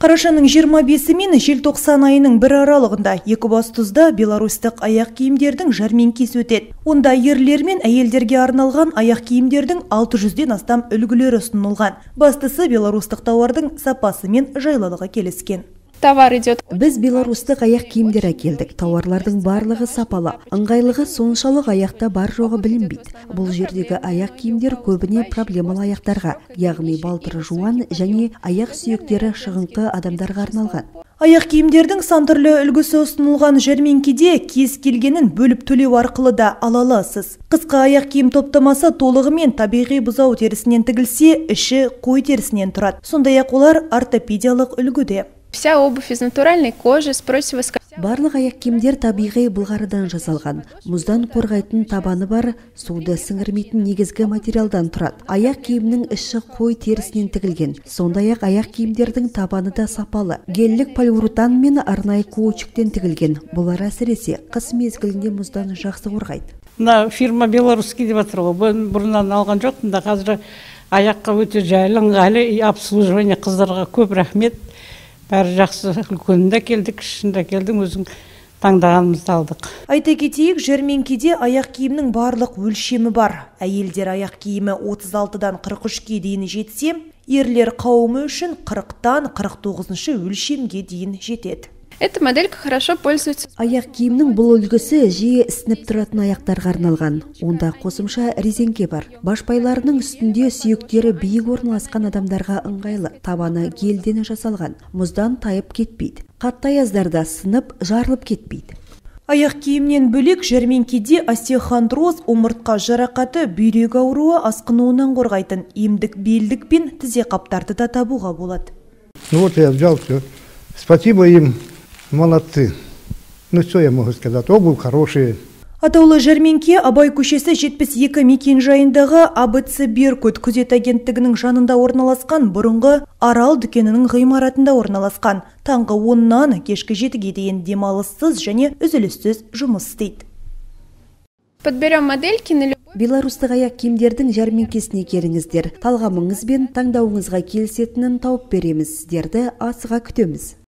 Қарашаның 25 мен желтоқсан айының бір аралығында Екібастұзда беларустық аяқ киімдердің жәрмеңкесі өтеді. Онда ерлер мен әйелдерге арналған аяқ киімдердің 600-ден астам үлгілері ұсынылған. Бастысы беларустық тауардың сапасы мен жайлылығы келіскен. Товар идет. Біз беларустық аяқ киімдер әкелдік. Тауарлардың барлығы сапалы. Ыңғайлығы соншалық аяқта бар жоғы білінбейді. Бұл жердегі аяқ киімдер көбіне проблемалы аяқтарға, яғни балтыры жуан және аяқ сүйектері шығыңқы адамдарға арналған. Аяқ киімдердің сан түрлі үлгісі ұсынылған жәрмеңкеде кез келгенін бөліп төлеу арқылы да ала аласыз. Қысқа аяқ киім топтамасы толығымен табиғи бұзау терісінен тігілсе, іші қой терісінен тұрады. Сондай-ақ олар ортопедиялық үлгіде. Вся обувь из натуральной кожи с противоскользящей. Барлық аяқ киімдер табиғи былғарыдан жасалған. Мұздан қорғайтын табаны бар, суды сіңірмейтін негізгі материалдан тұрады. Аяқ киімнің іші қой терісінен тігілген. Сондай-ақ аяқ киімдердің табаны да сапалы. Геллік полиуретан мен арнайы каучуктен тігілген. Бұлар әсіресе қыс мезгілінде мұздан жақсы қорғайды. Мына фирма белорусский деп жатыр ғой. Бұрыннан алған жоқпын да, қазір аяққа өте жайлы, ыңғайлы, обслуживание қыздарға көп рахмет. Бәрі жақсы, үлкенінде келдік, кішінде келдің, өзің таңдағанымызды алдық. Айта кетейік, жәрмеңкеде аяқ киімнің барлық өлшемі бар. Әйелдер аяқ киімі 36-дан 43-ге дейін жетсе, ерлер қауымы үшін 40-тан 49-шы өлшемге дейін жетеді. Эта моделька хорошо пользуется. Аяқ киімнің бұл үлгісі жиі ісініп тұратын аяқтарға арналған. Онда қосымша резеңке бар. Башпайларының үстінде сүйектері биік орналасқан адамдарға ыңғайлы. Табаны гелден жасалған. Мұздан тайып кетпейді. Қатты аяздарда сынып, жарылып кетпейді. Аяқ киімнен бөлек жәрмеңкеде остеохондроз, омыртқа жарақаты, бүйрек ауруы асқынуынан қорғайтын емдік белдік пен тізе қаптарды да табуға болады. Вот я взял все. Спасибо им. Молодцы. Ну что я могу сказать? Обувь хорошая. Атаулы жәрмеңке Абай көшесі 72 мекен жайындағы АБЦ Беркут күзет агенттігінің жанында орналасқан бұрынғы Арал дүкенінің ғимаратында орналасқан. Таңғы 10-нан кешкі 7-ге дейін демалыссыз және үзіліссіз жұмыс істейді. Подберем модельки на любой. Беларустық аяқ киімдердің жәрмеңкесіне келіңіздер. Талғамыңыз бен таңдауыңызға келісетінін тауып береміз. Сіздерді асыға күтеміз.